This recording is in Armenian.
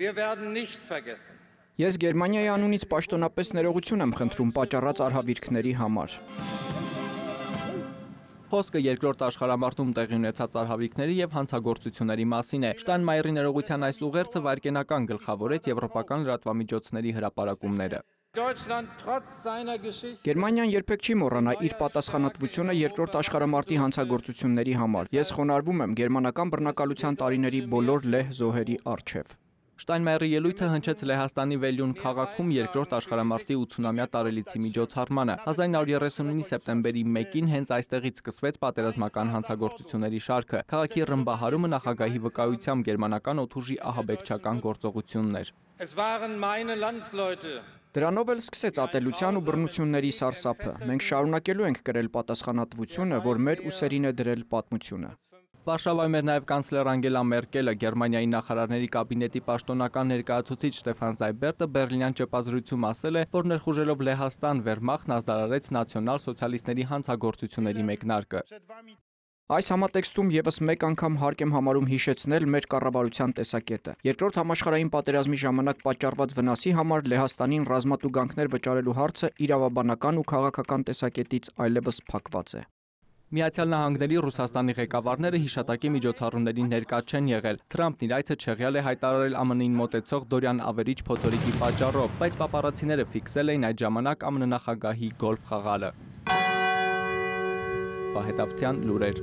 Wir werden nicht vergessen. Ես Գերմանիայի անունից պաշտոնապես ներողություն եմ խնդրում պատճառած արհավիրքների համար։ Խոսքը երկրորդ աշխարհամարտում տեղի ունեցած արհավիրքների եւ հանցագործությունների մասին է։ Շտայնմայերի ներողության այս ուղերձը վայրկենական գլխավորեց եվրոպական լրատվամիջոցների հրապարակումները։ Գերմանիան երբեք չի մոռանա իր պատասխանատվությունը երկրորդ աշխարհամարտի հանցագործությունների համար։ Ես խոնարհվում եմ գերմանական բռնակալության տարիների բոլոր լեհ զոհերի առջև։ Շտայնմայերի ելույթը հնչեց Լեհաստանի Վելյուն քաղաքում երկրորդ աշխարհամարտի 80-ամյա տարելիցի միջոցառմանը։ 1939-ի սեպտեմբերի 1-ին հենց այստեղից սկսվեց պատերազմական հանցագործությունների շարքը։ Քաղաքի ռմբահարումը նախագահի վկայությամբ գերմանական օդուժի ահաբեկչական գործողություններ։ Դրանով էլ սկսեց ատելության ու բռնությունների սարսափը։ Մենք շարունակելու ենք կրել պատասխանատվությունը, որ մեր ուսերին է դրել պատմությունը։ Վարշավայում էր նաև կանցլեր Անգելա Մերկելը, Գերմանիայի նախարարների կաբինետի պաշտոնական ներկայացուցիչ Ստեֆան Զայբերտը Բերլինյան ճեպազրույցում ասել է, որ ներխուժելով Լեհաստան Վերմախտն ազդարարեց նացիոնալ սոցիալիստների հանցագործությունների մեկնարկը։ Այս համատեքստում եւս մեկ անգամ հարկ եմ համարում հիշեցնել մեր կառավարության տեսակետը։ Երկրորդ համաշխարհային պատերազմի ժամանակ պատճառված վնասի համար Լեհաստանին ռազմատուգանքներ վճարելու հարցը իրավաբանական ու քաղաքական տեսակետից այլևս փակված է։ Միացյալ Նահանգների Ռուսաստանի ղեկավարները հիշատակի միջոցառումներին ներկա չեն եղել։ Թրամփն իր այցը չեղյալ է հայտարարել ԱՄՆ-ին մոտեցող դորյան ավերիչ փոթորիկի պատճառով, բայց պապարացիները ֆիքսել էին այդ ժամանակ ԱՄՆ նախագահի գոլֆ խաղալը։ Վահե Դավթյան, լուրեր։